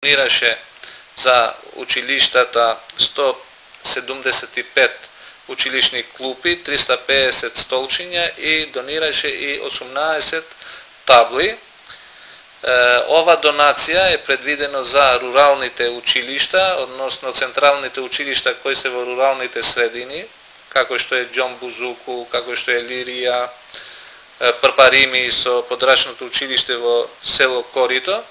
Донираше за училиштата 175 училишни клупи, 350 столчиња и донираше и 18 табли. Ова донација е предвидено за руралните училишта, односно централните училишта кои се во руралните средини, како што е Џон Бузуку, како што е Лирија, Прпарими со подрачното училиште во село Корито.